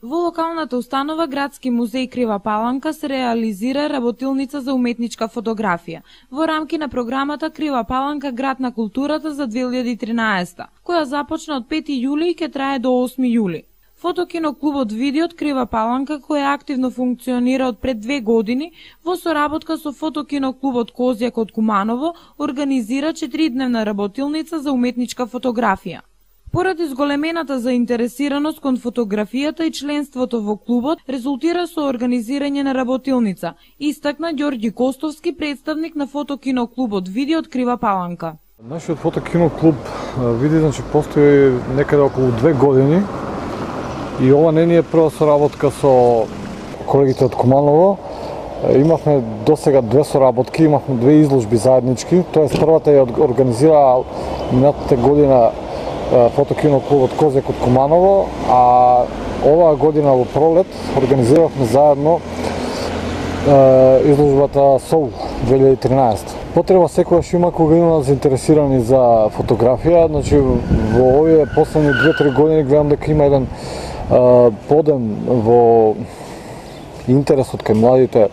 Во локалната установа Градски музеј Крива Паланка се реализира работилница за уметничка фотографија во рамки на програмата Крива Паланка Град на културата за 2013, која започна од 5 јули и ќе трае до 8 јули. Фотокиноклубот Видиот Крива Паланка, која активно функционира од пред 2 години, во соработка со Фотокиноклубот Козјак од Куманово, организира 4-дневна работилница за уметничка фотографија. Поради зголемената заинтересираност кон фотографијата и членството во клубот, резултира со организирање на работилница, истакна Ѓорѓи Костовски, представник на Фотокиноклубот Видиот Крива Паланка. Нашиот фотокиноклуб Види, постои некаде околу 2 години и ова не ни е прва соработка со колегите од Куманово. Имавме досега 2 соработки, имавме 2 изложби заеднички, тоест првата ја организира минатата година Фотокиноклубот Козјак од Куманово, а оваа година во пролет организиравме заедно изложбата СОУ 2013. Потреба секогаш има кога има заинтересирани за фотографија, во овие последни 2-3 години гледам дека има еден подем во интересот кај младите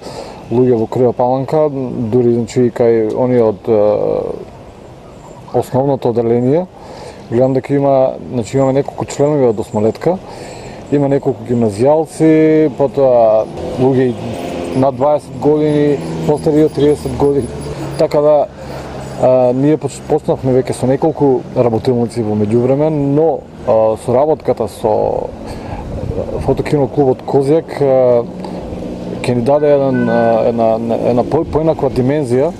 луѓе во Крива Паланка, дури и кај оние од основното оделение. Гледам дека имаме неколку членови од осмолетка, има неколку гимназијалци, потоа луѓе над 20 години, постари од 30 години. Така да ние почнавме веќе со неколку работилници во меѓувреме, но соработката со Фотокиноклубот Козјак ќе ни даде една поинаква димензија,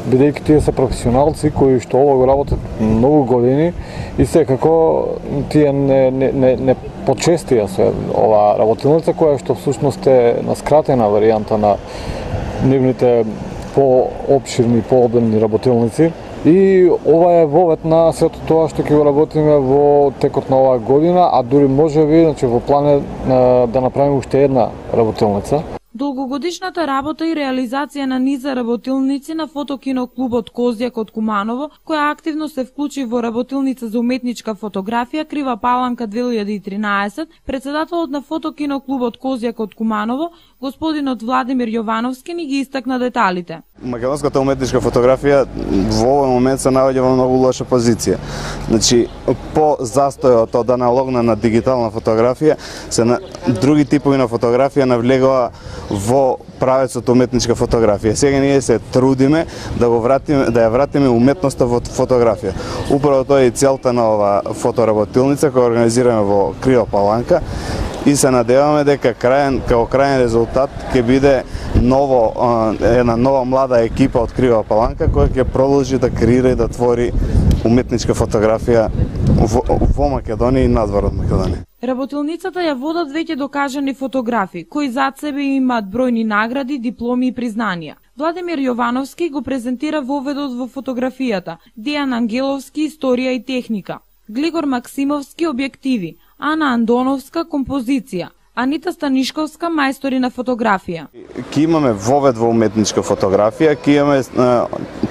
бидејќи тие се професионалци кои што ова го работат многу години и секако тие не почестија со оваа работилница, која што всушност е на скратена варијанта на нивните поопширни, пообемни работилници. И ова е вовет на сето тоа што ќе го работиме во текот на оваа година, а дури можеби во план е да направиме уште една работилница. Долгогодишната работа и реализација на низа работилници на Фотокиноклубот Козјак од Куманово, која активно се вклучи во работилница за уметничка фотографија Крива Паланка 2013, председателот на Фотокиноклубот Козјак од Куманово, господинот Владимир Јовановски, ни ги истакна деталите. Македонската уметничка фотографија во овој момент се наоѓа во многу лоша позиција. По застојот од аналогна на дигитална фотографија, други типови на фотографија навлегува во правецот уметничка фотографија. Сега ние се трудиме да ја вратиме уметноста во фотографија. Управо тоа е целта на ова фотоработилница која организираме во Крива Паланка и се надеваме дека како крајен резултат ќе биде една нова млада екипа од Крива Паланка која ќе продолжи да креира и да твори уметничка фотографија во Македонија и надвор од Македонија. Работилницата ја водат веќе докажани фотографи, кои зад себе имаат бројни награди, дипломи и признанија. Владимир Јовановски го презентира воведот во фотографијата, Дејан Ангеловски историја и техника, Глигор Максимовски објективи, Ана Андоновска композиција, Анита Станишковска мајстори на фотографија. Ке имаме вовед во уметничка фотографија, ке имаме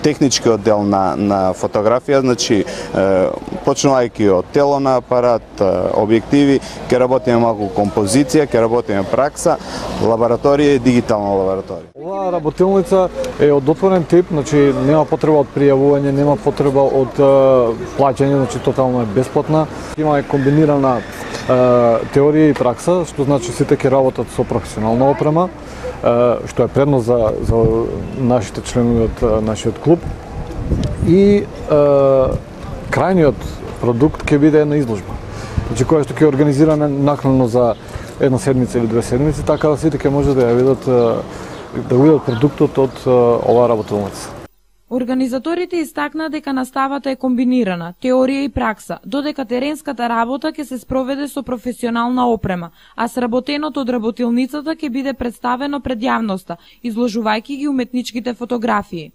технички оддел на фотографија, почнувајќи од тело на апарат, објективи, ке работиме малку композиција, ке работиме пракса, лабораторија и дигитална лабораторија. Оваа работилница е од отворен тип, нема потреба од пријавување, нема потреба од плаќање, тотално е бесплатна. Има комбинирана теорија и пракса, што значи сите ќе работат со професионална опрема, што е предност за нашите членови од нашиот клуб. И крајниот продукт ќе биде една изложба, која што ќе организираме накнадно за една седмица или 2 седмици, така да сите ќе може да ја видат продуктот од оваа работилница. Организаторите истакнаа дека наставата е комбинирана, теорија и пракса, додека теренската работа ќе се спроведе со професионална опрема, а сработеното од работилницата ќе биде представено пред јавноста, изложувајќи ги уметничките фотографии.